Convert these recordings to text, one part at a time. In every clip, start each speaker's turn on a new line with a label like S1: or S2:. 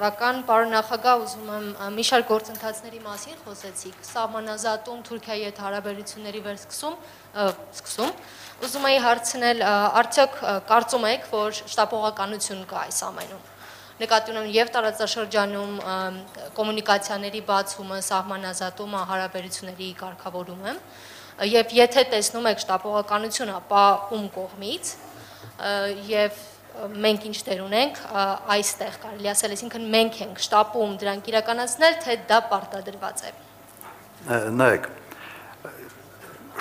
S1: Շնորհակալ, պարոն նախագահ, ուզում եմ մի շարք գործընթացների մասին խոսեցիք, սահմանազատում, Թուրքիայի հետ հարաբերությունների վերսկսում, ուզում էի հարցնել, արդյոք կարծում եք, որ շտապողականություն կա այս ամենում, նկատի ունեմ և տարածաշրջանում կոմունիկացիաների բացումը, սահմանազատումը, հարաբերությունների կարգավորումը, և եթե տեսնում եք շտապողականություն, ապա ում կողմից, և մենք ինչ դեր ունենք այստեղ կարելի ասել, այսինքն մենք ենք շտապում դրանք իրականացնել, թե դա պարտադրված է։
S2: Նայեք,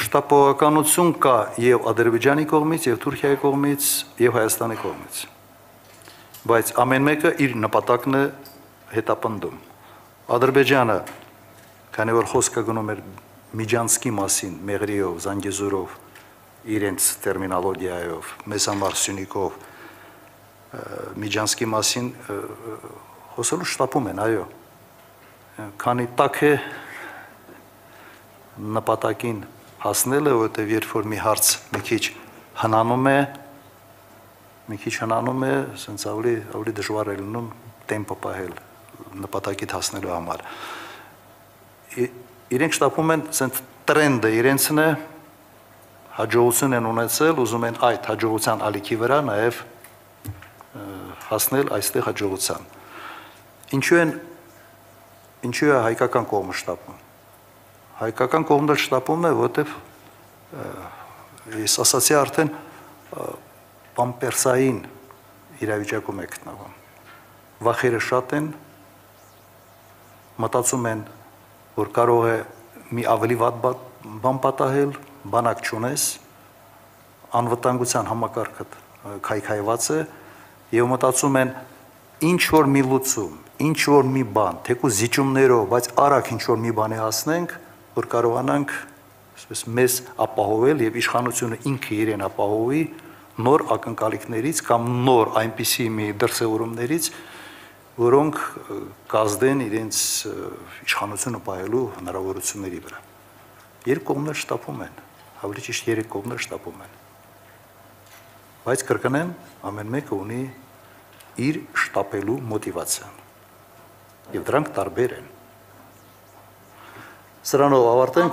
S2: շտապողականություն կա և Ադրբեջանի կողմից, և Թուրքիայի կողմից, և Հայաստանի կողմից, բայց ամեն մեկը իր նպատակն է հետապնդում։ Ադրբեջանը, քանի որ խոսքը գնում էր Միջանցքի մասին, Մեղրիով, Զանգեզուրով, իրենց տերմինոլոգիայով, մեզ համար Սյունիքով, Միջանցքի մասին խոսելու շտապում են, այո, քանի տաք է նպատակին հասնելը, որովհետև երբ որ մի հարց մի քիչ հնանում է, ասենց ավելի դժվար է լինում տեմպը պահել նպատակիդ հասնելու համար։ Իրենք շտապում են, ասենց տրենդը իրենցն է, հաջողություն են ունեցել, ուզում են այդ հաջողության ալիքի վրա նաև հասնել այստեղ հաջողության։ Ինչու է հայկական կողմը շտապում։ Հայկական կողմն էլ շտապում է, որովհետև ես ասացի արդեն պամպերսային իրավիճակում է գտնվում։ Վախերը շատ են, մտածում են, որ կարող է մի ավելի վատ բան պատահել, բանակ չունես, անվտանգության համակարգը քայքայված է, և մտածում են ինչ-որ մի լուծում, ինչ-որ մի բան, թեկուզ զիջումներով, բայց արագ ինչ-որ մի բանի հասնենք, որ կարողանանք մեզ ապահովել և իշխանությունը ինքը իրեն ապահովի նոր ակնկալիքներից կամ նոր այնպիսի մի դրսևորումներից, որոնք կազդեն իրենց իշխանությունը պահելու հնարավորությունների վրա։ Երկու կողմներ շտապում են, ավելի ճիշտ երեք կողմներ շտապում են, բայց կրկնեմ, ամեն մեկը ունի իր շտապելու մոտիվացիան, և դրանք տարբեր են։ Սրանով ավարտենք։